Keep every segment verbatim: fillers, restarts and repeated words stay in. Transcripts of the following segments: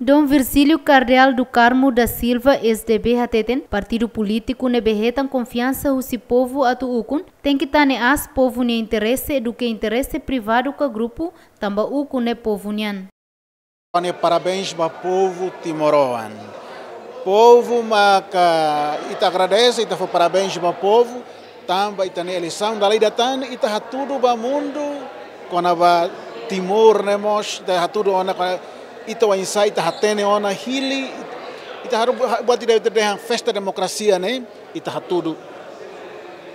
Dom Virgílio Cardeal do Carmo da Silva, S D B, hateten, partidu polítiku ne'ebé hetan konfiansa husi povu atu ukun, tenke tane aas povu nia interese duké interese privadu ka grupu, tanba ukun ne'e povu nian. Ha'u-nia parabéns ba povu timoroan. Povu maka ita agradese, ita fó parabéns ba povu, tanba ita-nia eleisaun dala ida tan, ita hatudu ba mundu kona-ba Timor ne'e mós, ita hatudu ona kona-, ita oinsá, ita hatene ona hili, ita haru-, buat ida ita dehan festa demokrasia ne'e, ita hatudu.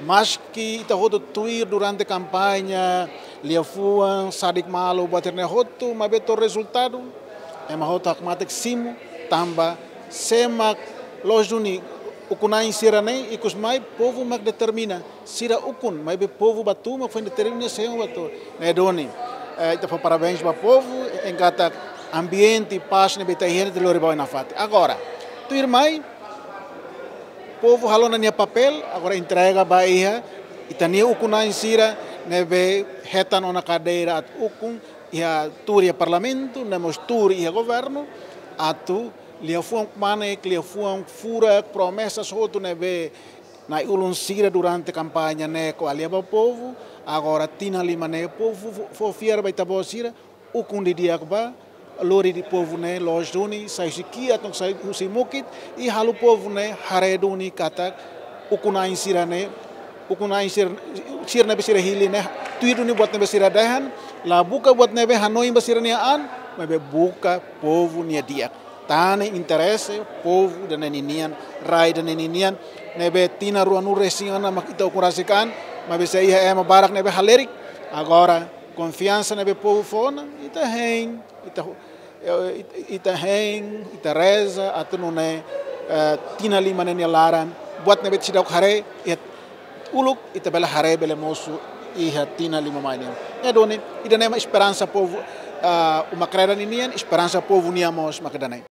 Maski ita hotu tuir durante kampaña, liafuan, sadik malu, buat ne'e hotu, maibé to'o rezultadu, ema hotu hakmatek simu, tanba sé mak loos duni ukun-na'in sira-ne'e, ikus mai povu mak determina, sira ukun, maibé povu ba tun mak foin determina sé mak ba tun. Ne'e duni, eh, ita fó parabéns ba povu, enkatak ambiente, pás ne'ebé ita iha ne'e ita lori ba oin nafatin. Agora, tuirmai, povu halo ona nia papél, agora entrega ba iha ita-nia ukun-na'in sira ne'ebé hetan ona kadeira atu ukun iha tuur iha parlamentu, no mós tuur iha governu, atu liafuan kmanek, liafuan furak, promesas hotu ne'ebé na'i-ulun sira durante kampaña ne'e ko'alia ba povu, agora tinan lima ne'e povu fó, fó fiar ba ita-boot sira, ukun didi'ak ba, lori de'it povu ne'e loos duni, sai husi kiak, atu sai husi mukit, i halo povu ne'e haree duni katak ukun-na'in sira-ne'e, ukun-na'in sira, sira ne'ebé sira hili ne'e, tuir duni buat ne'ebé sira dehan, la buka buat ne'ebé hanoin ba sira-nia an, maibé buka povu nia di'ak. Tane interese povu ida-ne'e ninian, rai ida-ne'e ninian, ne'ebé tinan ruanulu-resin-haat mak ita ukun rasik an, maibé sei iha ema barak ne'ebé halerik, agora konfiansa ne'ebé povu fó ona, ita hein, ita, eh, ita, ita hein, ita reza, atu nune'e, eh, tinan lima ne'e nia laran, buat ne'ebé seidauk haree iha uluk, ita bele haree, bele mosu iha tinan lima mai nian. Ne'e duni, ida-ne'e mak esperansa povu, ah, uma Kreda ninian, esperansa povu nian mós mak ida-ne'e.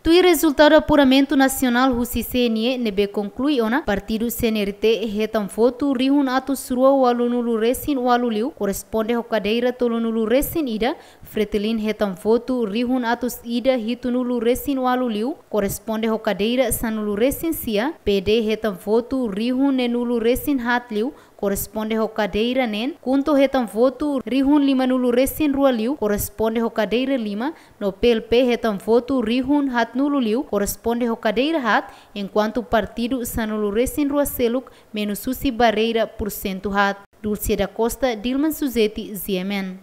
Tuir rezultadu apuramentu nasionál husi C N E ne'ebé konklui ona, partidu C N R T hetan votu rihun atus rua ualunulu-resin-ualu liu, korresponde ho kadeira tolunulu-resin-ida, Fretilin hetan votu rihun atus ida hitunulu-resin-ualu liu, korresponde ho kadeira sanulu-resin-sia, P D hetan votu rihun neenulu-resin-haat liu, korresponde ho kadeira neen, KHUNTO hetan votu rihun limanulu-resin-rua liu, korresponde ho kadeira lima, no P L P hetan votu rihun haatnulu liu, korresponde ho kadeira haat, enkuantu partidu sanulu-resin-rua seluk menus husi barreira pursentu haat. Dulce da Costa, Dilman Suzeti, G M N.